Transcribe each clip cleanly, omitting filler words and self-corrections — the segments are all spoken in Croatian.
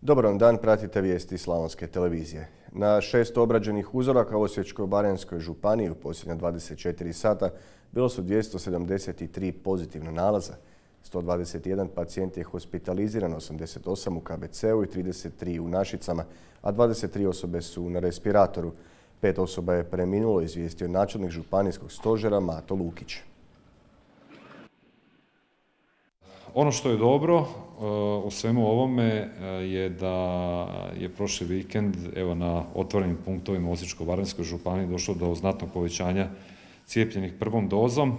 Dobar vam dan, pratite vijesti Slavonske televizije. Na 600 obrađenih uzoraka u Osječko-baranjskoj županiji u posljednja 24 sata bilo su 273 pozitivna nalaza. 121 pacijent je hospitaliziran, 88 u KBC-u i 33 u Našicama, a 23 osobe su na respiratoru. 5 osoba je preminulo, izvijestio načelnik županijskog stožera Mato Lukić. Ono što je dobro u svemu ovome je da je prošli vikend na otvorenim punktovima u Osječko-baranjskoj županiji došlo do znatnog povećanja cijepljenih prvom dozom,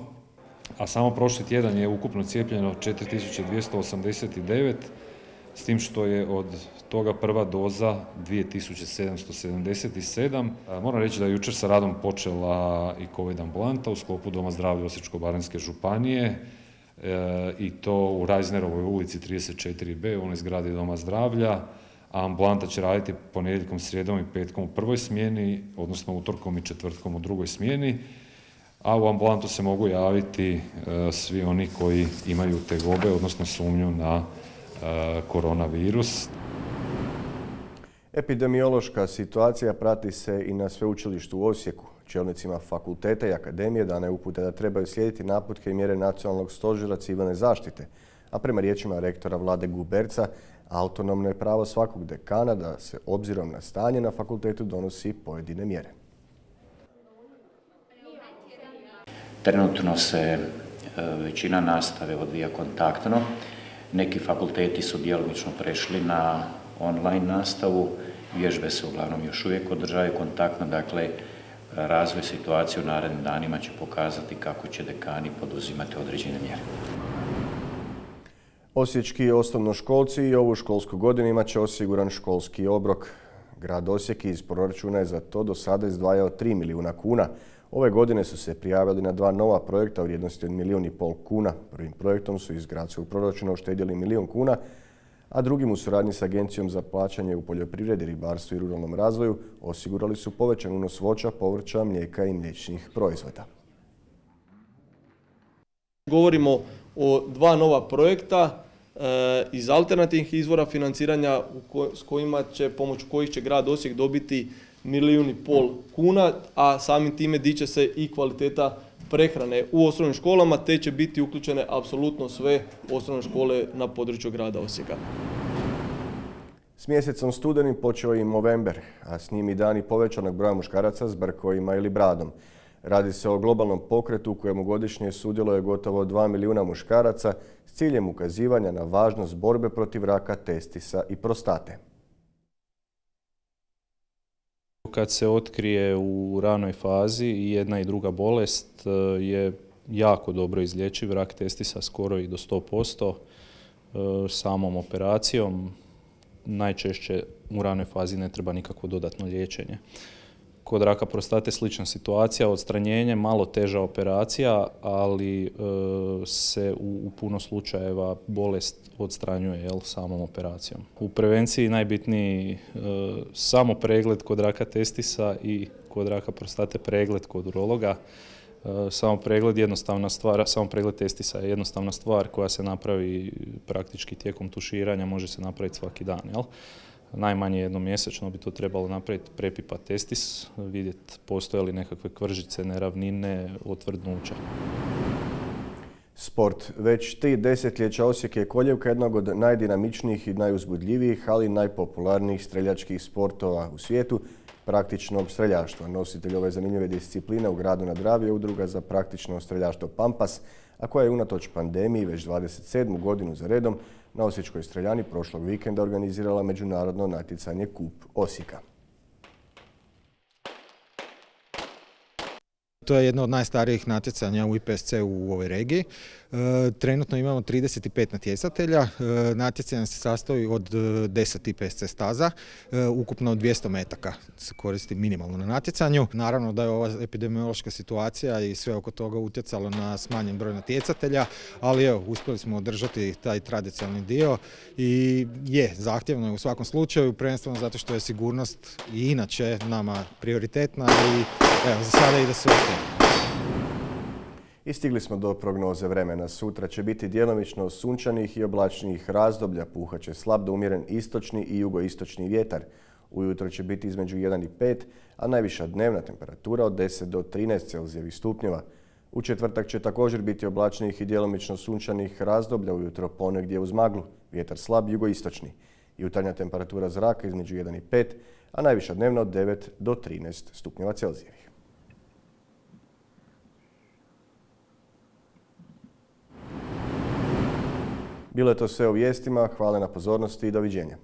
a samo prošli tjedan je ukupno cijepljeno 4289, s tim što je od toga prva doza 2777. Moram reći da je jučer sa radom počela i COVID ambulanta u sklopu Doma zdravlja Osječko-baranjske županije, i to u Rajznerovoj ulici 34B, u onoj zgradi Doma zdravlja, a ambulanta će raditi ponedjeljkom, srijedom i petkom u prvoj smjeni, odnosno utorkom i četvrtkom u drugoj smjeni, a u ambulantu se mogu javiti svi oni koji imaju tegobe, odnosno sumnju na koronavirus. Epidemiološka situacija prati se i na sveučilištu u Osijeku. Čelnicima fakulteta i akademije dana je uputa da trebaju slijediti naputke i mjere Nacionalnog stožera civilne zaštite, a prema riječima rektora Vlade Guberca, autonomno je pravo svakog dekana da se obzirom na stanje na fakultetu donosi pojedine mjere. Trenutno se većina nastave odvija kontaktno. Neki fakulteti su djelomično prešli na online nastavu. Vježbe se uglavnom još uvijek održavaju kontaktno, dakle razvoj situacije u narednim danima će pokazati kako će dekani poduzimati određene mjere. Osječki osnovnoškolci i ovu školsku godinu imat će osiguran školski obrok. Grad Osijek iz proračuna je za to do sada izdvajao 3 milijuna kuna. Ove godine su se prijavili na 2 nova projekta u vrijednosti od 1,5 milijuna kuna. Prvim projektom su iz gradskog proračuna uštedjeli 1 milijun kuna, a drugim u suradnji s Agencijom za plaćanje u poljoprivredi, ribarstvu i ruralnom razvoju osigurali su povećan unos voća, povrća, mlijeka i mliječnih proizvoda. Govorimo o 2 nova projekta iz alternativnih izvora financiranja pomoću kojih će grad Osijek dobiti 1,5 milijuna kuna, a samim time diće se i kvaliteta prehrane u osnovnim školama, te će biti uključene apsolutno sve osnovne škole na području grada Osijeka. S mjesecom studenim počeo i november, a s njim i dani povećanog broja muškaraca s brkovima ili bradom. Radi se o globalnom pokretu u kojemu godišnje sudjeluje gotovo 2 milijuna muškaraca s ciljem ukazivanja na važnost borbe protiv raka testisa i prostate. Kad se otkrije u ranoj fazi i jedna i druga bolest je jako dobro izlječiv, rak testisa skoro i do 100%, samom operacijom. Najčešće u ranoj fazi ne treba nikakvo dodatno liječenje. Kod raka prostate slična situacija, odstranjenje, malo teža operacija, ali se u puno slučajeva bolest odstranjuje samom operacijom. U prevenciji najbitniji samo pregled kod raka testisa i kod raka prostate pregled kod urologa. Samo pregled testisa je jednostavna stvar koja se napravi praktički tijekom tuširanja, može se napraviti svaki dan. Najmanje jednom mjesečno bi to trebalo napraviti, prepipati testis, vidjeti postoje li nekakve kvržice, neravnine, otvrdnuća. Sport. Već 3 desetljeća Osijek je koljevka jednog od najdinamičnijih i najuzbudljivijih, ali i najpopularnijih streljačkih sportova u svijetu, praktičnog streljaštva. Nositelj ove zanimljive discipline u gradu na Dravi je Udruga za praktično streljaštvo Pampas, a koja je unatoč pandemiji već 27. godinu za redom na Osječkoj streljani prošlog vikenda organizirala međunarodno natjecanje Kup Osijeka. To je jedno od najstarijih natjecanja u IPSC u ovoj regiji. Trenutno imamo 35 natjecatelja. Natjecanje se sastoji od 10 IPSC staza, ukupno 200 metaka se koristi minimalno na natjecanju. Naravno da je ova epidemiološka situacija i sve oko toga utjecalo na smanjen broj natjecatelja, ali evo, uspjeli smo održati taj tradicionalni dio i zahtjevno je u svakom slučaju, prvenstveno zato što je sigurnost i inače nama prioritetna i evo, za sada ide sve ok. I stigli smo do prognoze vremena. Sutra će biti djelomično sunčanih i oblačnijih razdoblja. Puhat će slab do umjeren istočni i jugoistočni vjetar. Ujutro će biti između 1 i 5, a najviša dnevna temperatura od 10 do 13 Celzijevih stupnjeva. U četvrtak će također biti oblačnijih i djelomično sunčanih razdoblja, ujutro ponegdje uz maglu, vjetar slab jugoistočni. Jutarnja temperatura zraka između 1 i 5, a najviša dnevna od 9 do 13 stupnjeva Celzijevih. Bilo je to sve u vijestima, hvala na pozornosti i doviđenja.